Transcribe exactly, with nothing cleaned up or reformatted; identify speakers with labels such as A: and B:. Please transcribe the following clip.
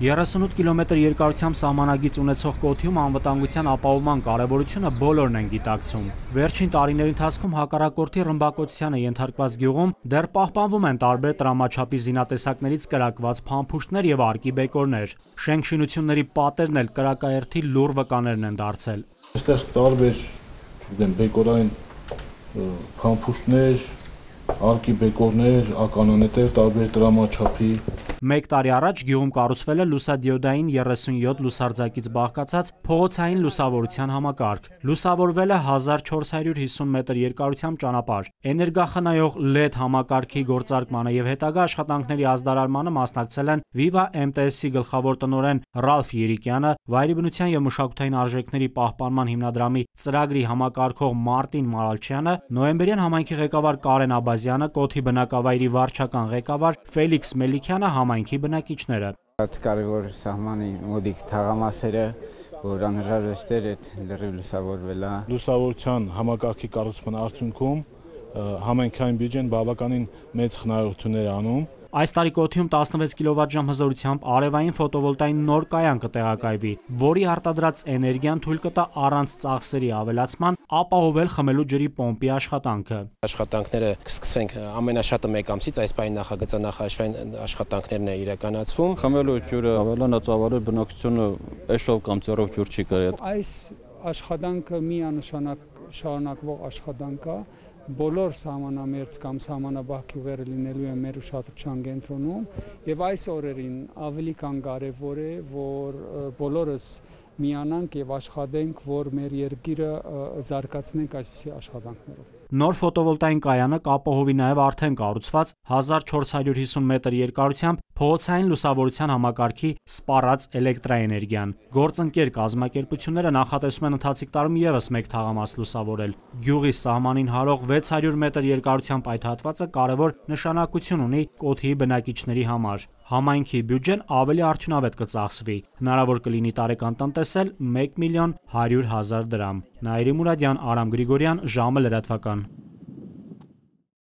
A: երեսունութ կիլոմետր երկարությամբ սահմանագիծ ունեցող Կոթիում անվտանգության ապահովման կարևորությունը բոլորն են գիտակցում։ Վերջին տարիների ընթացքում հակառակորդի ռմբակոծությանը ենթարկված գյուղում դեռ պահպանվում են տարբեր տրամաչափի զինատեսակներից կրակված փամփուշտներ եւ արկի բեկորներ։ Շենք-շինությունների պատերն էլ կրակաերթի լուռ վկաներն են դարձել։
B: Այստեղ տարբեր բեկորային փամփուշտներ, արկի բեկորներ, ականանետեր, տարբեր տրամաչափի։
A: Մեկ տարի առաջ գյուղում կառուցվել է լուսադիոդային երեսունյոթ լուսարձակից բաղկացած փողոցային լուսավորության համակարգ։ Լուսավորվել է հազար չորս հարյուր հիսուն մետր երկարությամբ ճանապարհ։ Էներգախնայող լեդ համակարգի գործարկմանը եւ հետագա աշխատանքների ազդարարմանը մասնակցել են Viva M T S-ի գլխավոր տնօրեն Ռալֆ Երիկյանը, Վայրի բնության եւ մշակութային արժեքների պահպանման հիմնադրամի ծրագրի համակարգող Մարտին Մարալչյանը, նոյեմբերյան համայնքի ղեկավար Կարեն Աբազյանը, Կոթի բնակավայրի վարչական ղեկավար Ֆելիքս Մելիքյանը, համայնքի բնակիչները։
C: Կարևոր սահմանի մոդիկ թաղամասերը, որ անհրաժեշտ էր այդ լրիվ լուսավորվելա։
B: Լուսավորության համակարգի կառուցման արդյունքում համայնքային բյուջեն բավականին մեծ խնայողություններ անում։
A: Այս տարի Կոթիում տասնվեց կիլովատժամ հզորությամբ արևային ֆոտովոլտային նոր կայան կտեղակայվի, որի արտադրած էներգիան թույլ կտա առանց ծախսերի ավելացման ապահովել խմելու ջրի պոմպի աշխատանքը։
D: Աշխատանքները կսկսենք ամենաշատը մեկ ամսից, այս պահին նախագծանախաշվային աշխատանքներն է իրականացվում։
E: Խմելու ջուրը ավելանացավարել բնակչությունը էշով կամ ծերով ջուր չի կարել։
F: Այս աշխատանքը միանշանակ շարունակվող աշխատանք է։ Բոլոր սահմանամերձ կամ սահմանաբահ գյուղերը լինելու են մեր ուշադրության կենտրոնում եւ այս օրերին ավելի կան կարեւոր է, որ բոլորս միանանք եւ աշխատենք, որ մեր երկիրը զարգացնենք այսպիսի աշխատանքներով։
A: Նոր ֆոտովոլտային կայանը կապահովի նաև արդեն կառուցված հազար չորս հարյուր հիսուն մետր երկարությամբ փողոցային լուսավորության համակարգի սպառած էլեկտրաէներգիան։ Գործընկեր կազմակերպությունները նախատեսում են ընթացիկ տարում ևս մեկ թաղամաս լուսավորել։ Գյուղի սահմանին հարող վեց հարյուր մետր երկարությամբ այդ հատվածը կարևոր նշանակություն ունի Կոթիի բնակիչների համար։ Համայնքի բյուջեն ավելի արդյունավետ կծախսվի։ Հնարավոր կլինի տարեկան տնտեսել մեկ միլիոն հարյուր հազար դրամ։ Նաիրի Մուրադյան, Արամ Գրիգորյան, ժամը լրատվական։